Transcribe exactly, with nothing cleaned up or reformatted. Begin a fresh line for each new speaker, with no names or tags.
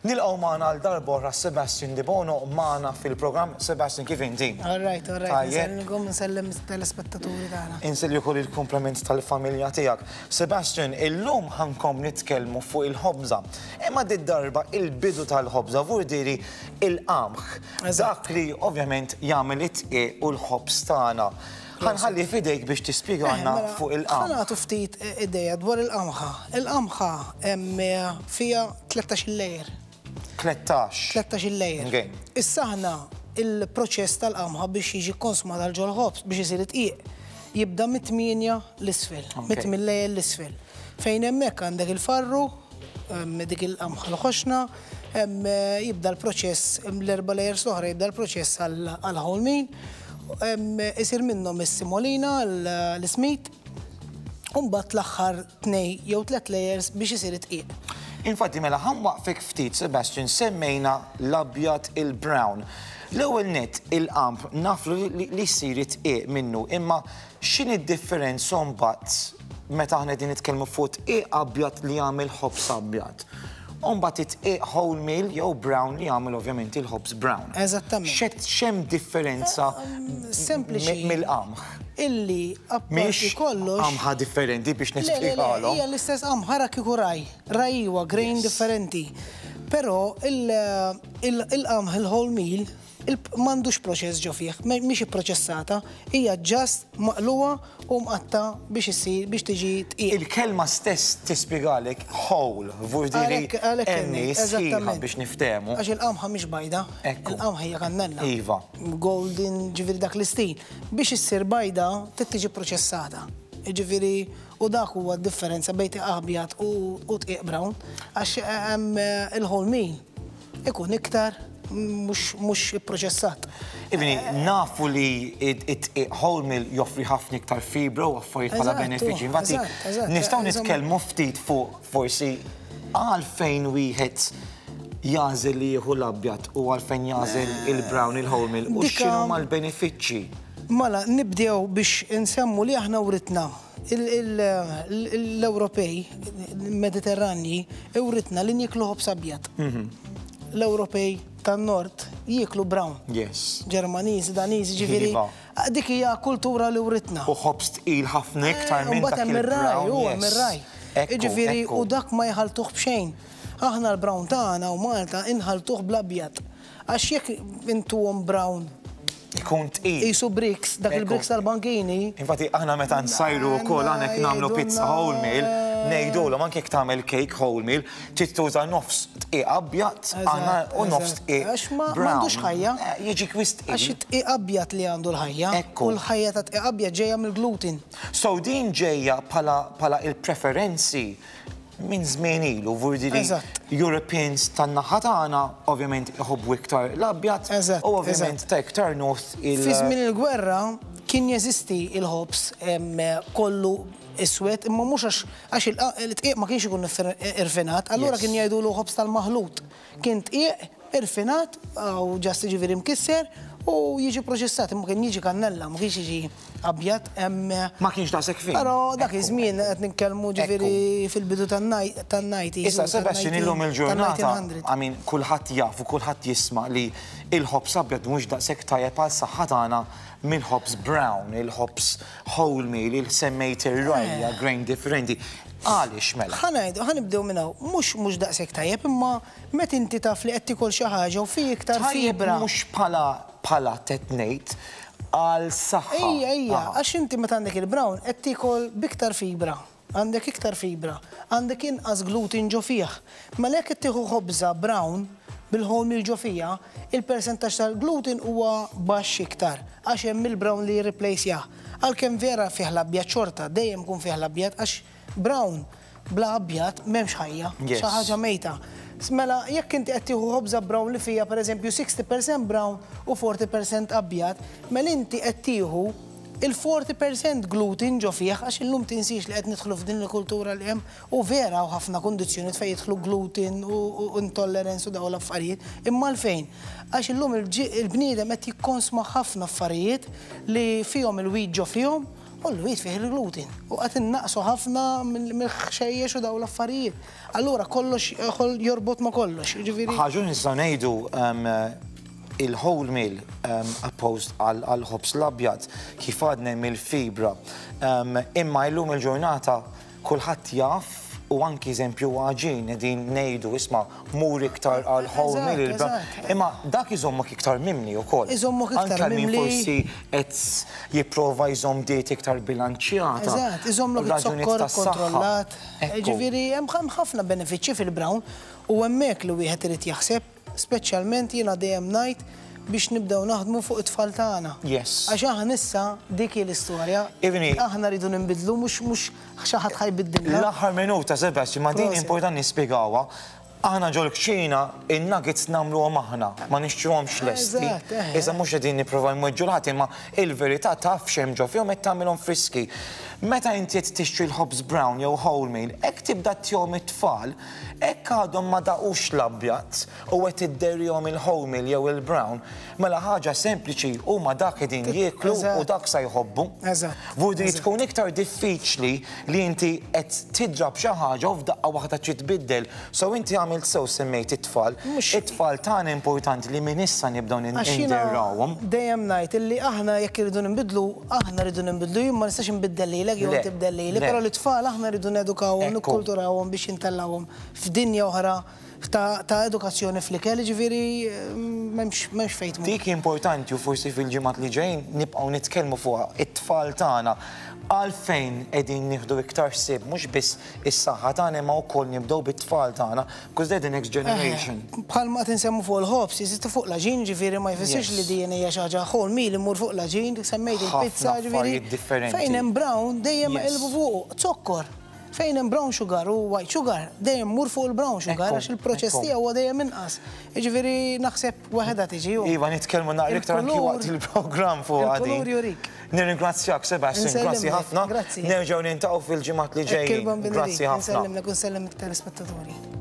Nilqgħu magħna għal darb'oħra Sebastian Debono magħna fil-programm. Sebastian, kif inti?
All right, all right.
Tajjeb.
Nsellmilkom, nsellem telespettaturi tagħna.
Insellmu wkoll il-kumplament tal-familja tiegħek. Sebastian, illum ħa nkomplu nitkellmu fuq il-ħobża. Imma did-darba il-bidu tal-ħobża, vurdiri il-qamħ. Dak li ovvjament jagħmel it-dqiq u l-ħobż tagħna. Ħa nħalli f'idejk biex tispjegana
Mela,
fuq il-qamħ.
Ħa nagħtu ftit ideja dwar il-qamħa. Il-qamħa hemm fiha tlettax-il layer.
Tlettax.
tlettax-il layer.
Okay.
Issa aħna il-proċess tal-qamħa biex jiġi konsmat għal ġol-ħobż biex isir dqiq jibda mit-tmienja l-isfel,
Okay.
mit-tmien layer l-isfel. Fejn hemmhekk għandek il-farru, hemm dik il-qamħa l-ħoxna, hemm jibda l-proċess, hemm l-erba' layers l-oħra jibda l-proċess għal whole meal, hemm isir minnhom is-semolina, l-ismid, u mbagħad l-aħħar tnej jew tliet layers biex isir id-dqiq.
Infatti, mela ħa nwaqqfek ftit, Sebastian, semmejna l-abjad, il-brown. L-ewwel net, il-qamħ nafu li li jsir id-dqiq minnu, imma x'inhi d-differenza mbagħad meta aħna qegħdin nitkellmu fuq dqiq abjad li jagħmel ħobż abjad? U mbagħad id-dqiq wholemeal jew brown li jagħmel ovvjament il-ħobż brown.
Eżattament.
X'qed x'hemm differenza
Sempliċi.
mi- mill-qamħ?
Illi apparti
Mhix
kollox.
qamħa differenti biex
Le, le, le,
nispjegalhom.
hija l-istess qamħa, ra kieku rye. Rye huwa grain
Yes.
differenti. Però il- il- il-qamħ il-whole meal il- m'għandux proċess ġo fih, mhix ipproċessata, hija just maqluwa u mqatta biex issir biex tiġi dqiq.
Il-kelma stess tispjegalek, whole, vurdiri
Għalhekk- għalhekk
enni
inni,
sħiħa
eżattament.
biex niftehmu.
Għax il-qamħa mhix bajda,
Ekku.
il-qamħa hija kannella.
Iva.
Golden, ġifieri dak l-istil. Biex issir bajda, trid tiġi proċessata. Ġifieri, u dak huwa d-differenza bejn dqiq abjad u u dqiq brown, għax hemm il-whole meal ikun iktar mhux mhux ipproċessat.
Ibni, nafu li it whole meal joffri ħafna iktar fibra u affarijiet bħala
Eżatt,
benefiċi. Infatti,
eżatt, eżatt.
nistgħu
Insomma-
nitkellmu ftit fuq forsi għalfejn wieħed jagħżel li jieħu l-abjad u għalfejn jagħżel il-brown, il-wholemeal, u
Dika-
x'inhu mal-benefiċċji.
Mela, nibdew biex insemmu li aħna writna il- il- l-Ewropej, Mediterranji, writna li nieklu ħobż abjad. L-Ewropej tan-Nord jieklu brown.
Yes.
Ġermaniżi, Daniżi, ġifieri.
Iva.
Dik hija kultura li writna.
U ħobż tqil ħafna iktar minn
Mbagħad
dak
hemm ir-rye,
il-brown.
u hemm
yes.
ir-rye.
Ekku,
Ġifieri,
ekku.
u dak ma jħaltuh b'xejn. Aħna l-brown tagħna u Malta inħaltuh bl-abjad. Għax jekk intuhom brown
Ikun tqil.
qisu bricks, dak
Ekku.
il-bricks tal-bankini.
Infatti, aħna meta nsajru wkoll aħna jekk nagħmlu pizza wholemeal, ngħidulhom anke jekk tagħmel cake wholemeal, trid tuża nofs dqiq abjad aħna u nofs
eżatt.
dqiq
Għax ma
brown.
m'għandux ħajja.
Eh, Jiġi wisq
Għax
tqil.
it-dqiq abjad li għandu l-ħajja.
Ekku.
U l-ħajja ta' dqiq abjad ġejja mill-gluten.
So din ġejja bħala bħala il-preferenzi minn żmien ilu, vurdiri
Eżatt.
Europeans tan-naħa tagħna ovvjament iħobbu iktar l-abjad
Eżatt,
u ovvjament
eżatt.
ta' iktar north il-
Fi żmien il-gwerra kien jeżisti il-ħobż em, kollu iswed, imma mhux għax għax il- il-dqiq ma kienx ikun irfinat, allura
Yes.
kien jgħidulu ħobż tal-maħlut. Kien dqiq irfinat u just ġifieri mkisser u jiġi proċessat, imma kien jiġi kannella, ma kienx jiġi abjad. em,
Ma kienx daqshekk fin.
Però dak
Ekku,
iż-żmien qed nitkellmu ġifieri fil-bidu tan-ninety.
Issa, Sebastian, illum il-ġurnata, I mean, kulħadd jaf u kulħadd jisma' li il-ħobż abjad mhux daqshekk tajjeb għal saħħa tagħna mill-ħobż brown, il-ħobż wholemeal, il-semmejt ir-rye, grain differenti. Għaliex mela?
Ħa ngħidu, ħa nibdew minn hawn, mhux mhux daqshekk tajjeb, imma meta inti taf li qed tikol xi ħaġa u fi iktar
Tajjeb
fibra.
mhux bħala bħala tetnejt għal saħħa.
Ejja, ejja,
Aha.
għax inti meta għandek il-brown qed tikol biktar fibra. Għandek iktar fibra, għandek inqas gluten ġo fih. Mela jekk qed tieħu ħobża brown bil-wholemeal ġo fiha, il-persentaġġ tal-gluten huwa baxx iktar, għax hemm il-brown li jirreplace. Għalkemm vera fih l-abjad xorta, dejjem kun fih l-abjad, għax brown bla abjad m'hemmx ħajja,
Yes.
xi ħaġa mejta. Mela, jekk inti qed tieħu ħobża brown li fija pereżempju sixty percent brown u forty percent abjad, mela inti qed tieħu il-forty percent gluten ġo fih, għax illum tinsix li qed nidħlu f'din il-kultura li hemm u vera u ħafna kundizzjonijiet fejn jidħlu gluten u u intolerance u dawn l-affarijiet. Imma għalfejn? Għax illum il-bniedem qed jikkonsma ħafna affarijiet li fihom il-wheat ġo fihom. U l-wheat fih il-gluten. U qed innaqsu ħafna mill-ħxejjex u daw l-affarijiet. Allura kollox jorbot ma' kollox. Ġifieri.
Ħaġa nistgħu ngħidu il-whole meal opposed għal-ħobż l-abjad kif għadna mill-fibra. Imma illum il-ġurnata kulħadd jaf u anki eżempju għaġin qegħdin ngħidu isma' mur iktar għal whole meal. Imma dak iżommok iktar mimli wkoll.
Iżommok iktar mimli.
Anke min forsi qed jipprova jżomm diet iktar bilanċjata.
Eżatt, iżommlok iz-zokkor kontrollat. Ġifieri hemm ħafna benefiċċji fil-brown u hemmhekk li wieħed irid jaħseb, speċjalment jiena dejjem ngħid biex nibdew naħdmu fuq it-tfal tagħna.
Yes.
Għax aħna issa dik hi l-istorja. Aħna rridu nbidlu mhux mhux xi ħadd ħa jbiddilna.
L-aħħar minuta Sebastian, ma din importanti nispjegawha. Aħna ġol-kċina in-nuggets nagħmluhom aħna, ma nixtruhomx lesti. Iżda mhux qegħdin nipprovaw nweġġu l-ħadd, imma il-verità taf x'hemm ġo fihom qed tagħmilhom friski. Meta inti qed tixtri l-ħobż brown jew wholemeal, hekk tibda ttihom it-tfal, hekk għadhom ma daqux l-abjad u qed idderihom il-wholemeal jew il-brown, mela ħaġa sempliċi huma dak qegħdin jieklu u dak sa jħobbu. Vudi tkun iktar diffiċli li inti qed tidrab xi ħaġa u f'daqqa waħda trid tbiddel. So inti għamilt sew semmejt it-tfal. It-tfal tagħna importanti li minn issa nibdew ninderrawhom.
Dejjem ngħid illi aħna jekk irridu nbidlu, aħna rridu nbidlu, jien ma nistax inbiddel lilek jew tibdel lili, però l-tfal aħna rridu nedukawhom, nikkulturawhom biex intellawhom f'dinja oħra ta' edukazzjoni fl-ikel, ġifieri m'hemmx fejn tmur.
Dik importanti u forsi fil-ġimgħat li ġejjin nibqgħu nitkellmu fuqha it-tfal tagħna għalfejn qegħdin nieħdu iktar ħsieb mhux biss is-saħħa tagħna imma wkoll nibdew bit-tfal tagħna because they're the next generation.
Bħalma qed insemmu fuq il-ħobż, jeżistu fuq l-għaġin, ġifieri ma jfissirx li din hija xi ħaġa whole meal imur fuq l-għaġin, semmejt il-pizza, ġifieri. Fejn hemm brown dejjem qilbu fuq zokkor. Fejn hemm brown sugar u white sugar, dejjem mur fuq il-brown sugar għax il-proċess tiegħu huwa dejjem inqas. Jiġifieri naħseb waħedha tiġi.
Iva, nitkellmu naqra iktar anki waqt il-programm fuq għadi.
Il-kulur jurik.
Nirringrazzjak Sebastian, grazzi ħafna. Nerġgħu niltaqgħu fil-ġimgħat li ġejjin. Grazzi ħafna.
Nsellimlek u nsellem it-telespettaturi.